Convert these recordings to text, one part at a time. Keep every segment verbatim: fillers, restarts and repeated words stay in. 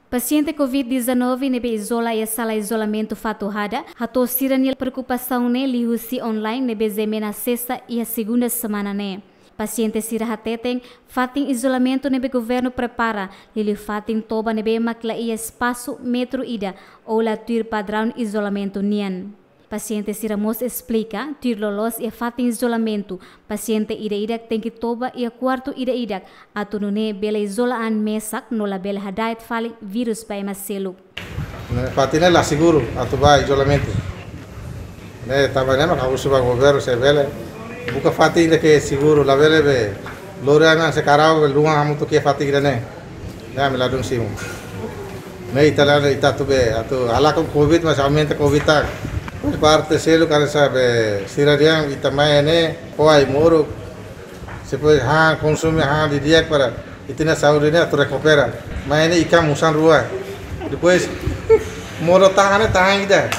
Pasiente Covid dezanove ne'ebé izola iha sala izolamentu Fatuhada hato'o sira-nia preokupasaun ne'e liuhusi online ne'ebé G M N asesa iha segunda semana ne'e. Pasiente sira hateten, fatin izolamentu ne'ebé governu prepara, liuliu fatin toba ne'ebé mak la iha espasu metru ida ou la tuir padraun izolamentu nian. Pasiente sira mós esplika, tuir loloos iha fatin izolamentu, pasiente ida-idak tenke toba iha kuartu ida-idak, atu nune'e bele izola an mesak no labele hada'et fali virus ba ema seluk. Ne'e fatin ne'e la seguru atu ba izolamentu. Ne'e tanba ne'e mak ha'u husu ba governu se bele buka fatin ida ke seguru, labele be lori an se karau be luan hamutuk iha fatin ida-ne'e. Ne'e ami ladún simu. Ne'e ita la, ita atu be, atu halakon Covid mas aumenta Covid tak. Parte seluk hanesan be sira dehan ita mai ne'e, ho ai-moruk. Se pode han, konsumu han didi'ak para ita-nia saúde ne'e atu rekupera. Mai ne'e ikan musan rua. Depois, modo tahan ne'e tahan ida.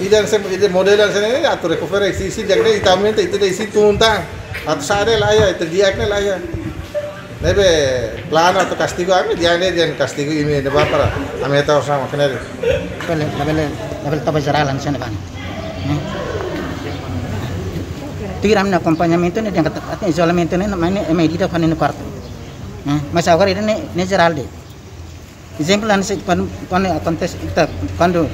Ida se, ida modelu hanesan ne'e atu rekupera isin-isin, di'ak ne'e ita aumenta, ita ida isin tun tan. Atu sa'e la iha, ita di'ak ne'e la iha. Ne'ebé planu atu kastigu ami, di'ak ne'e, di'ak kastigu imi ne'ebá para ami hetan osan mak ne'e. Labele, labele, labele toba jerál hanesan ne'e ba. Hmm. Tuir ami-nia akompañamentu ne'e, dehan katak, katak izolamentu ne'e, mai ne'e, ema ida-idak fali nia kuartu. Hmm. Mas agora ida-ne'e, ne'e jerál de'it. Ezemplu, hanesan kuandu, kuandu akontese, ita, kuandu,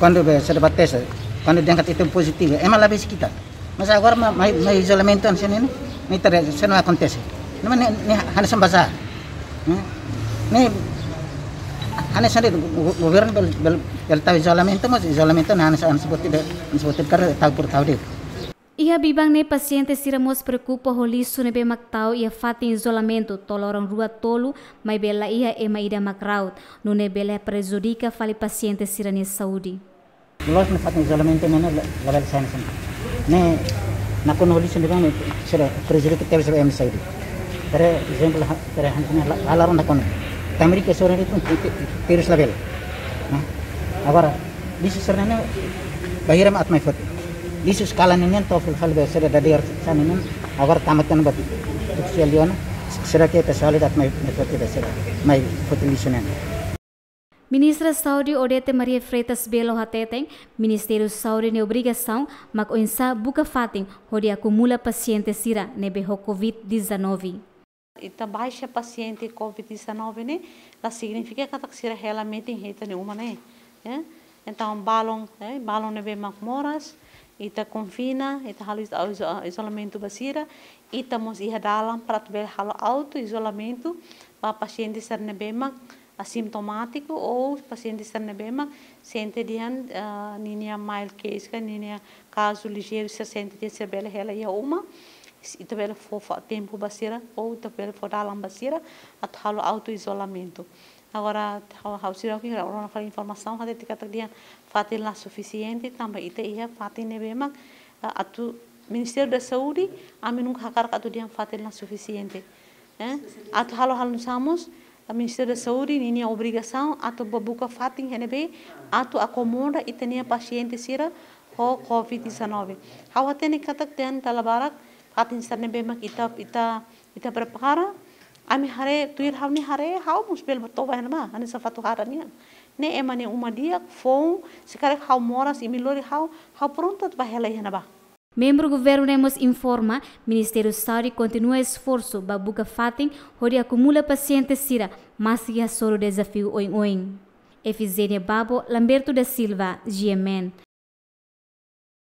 kuandu be, se debate se, kuandu dehan katak ita pozitivu, ema la besik ita. Mas agora mai, mai, mai izolamentu hanesan ne'e, ne'e ita, se não akontese. Ne'e, ne'e, ne'e hanesan bazár. Ne'e, ne'e hanesan de'it go-, go-, governu bele, bele, bele tau izolamentu, mas izolamentu ne'e hanesan, hanesan buat ida, hanesan buat ida karik tau por tau de'it. Iha biban ne'e pasiente sira mós preokupa ho lixu ne'ebé mak tau iha fatin izolamentu to'o loron rua tolu, maibé la iha ema ida mak ra'ut, nune'e bele prejudika fali pasiente sira-nia saúde. Loos ne'e fatin izolamentu ne'e, ne'e la, labele sai hanesan ne'e. Ne'e nakonu ho lixu ne'ebé mak sira prejudika tebes ba ema saúde. Por ezemplu, ha-, por ezemplu, la, la, la ronda kone. Tamrik ke sore itu, itu, terus labele. Nah, agora, lixu sira-ne'e bainhira mak atu mai foti. Lixu eskala ne'e nian to'o fali fali be sira dadeer hanesan ne'e nian, agora tama tan ba tuku sira liona, sira ke pessoal ida atu mai, mai foti be sira, mai foti lixu ne'e. Ministra Saúde Odete Maria Freitas Belo hateten, Ministériu Saúde nia obrigasaun mak oinsá buka fatin hodi akumula pasiente sira ne'ebé ho Covid dezanove. Ita baixa pasiente Covid dezanove ne'e, la signifika katak sira hela metin iha ita-nia uma ne'e, ya. Entaun balun, eh, balun ne'ebé mak moras, ita konfina, ita halo izo-, izo-, izolamentu ba sira, ita mós iha dalan para atu bele halo auto izolamentu ba pasiente sira ne'ebé mak asintomátiku ou pasiente sira ne'ebé mak sente dehan, ah, ninia mild case ka ninia kazu lijeiru sira sente dehan sira bele hela iha uma, ita bele fó, fó tempu ba sira, ou ita bele fó dalan ba sira, atu halo auto izolamentu. Agora, ha'u, ha'u seidauk rona fali informasaun, hatete katak dehan fatin la sufisiente, tanba ita iha fatin ne'ebé mak, ah, atu Ministériu da Saúde, ami nunka hakarak atu dehan fatin la sufisiente. Eh? Atu halo halo nusá mós, ah, Ministériu da Saúde, ninia obrigasaun, atu ba buka fatin iha ne'ebé, atu akomoda ita-nia pasiente sira, ho Covid dezanove. Ha'u hatene katak dehan dala barak, fatin sira ne'ebé mak ita, ita, ita prepara, ami haree, tuir ha'u-nia haree, ha'u mós bele ba toba iha ne'ebá, hanesan Fatuhada nian. Ne'e ema nia uma di'ak, foun, se karik ha'u moras, imi lori ha'u, ha'u prontu atu ba hela iha ne'ebá. Membru governu ne'e mós informa, Ministériu Saúde kontinua esforsu ba buka fatin hodi akumula pasiente sira, maski hasoru dezafiu oioin. Efizénia Babo, Lamberto da Silva, G M N.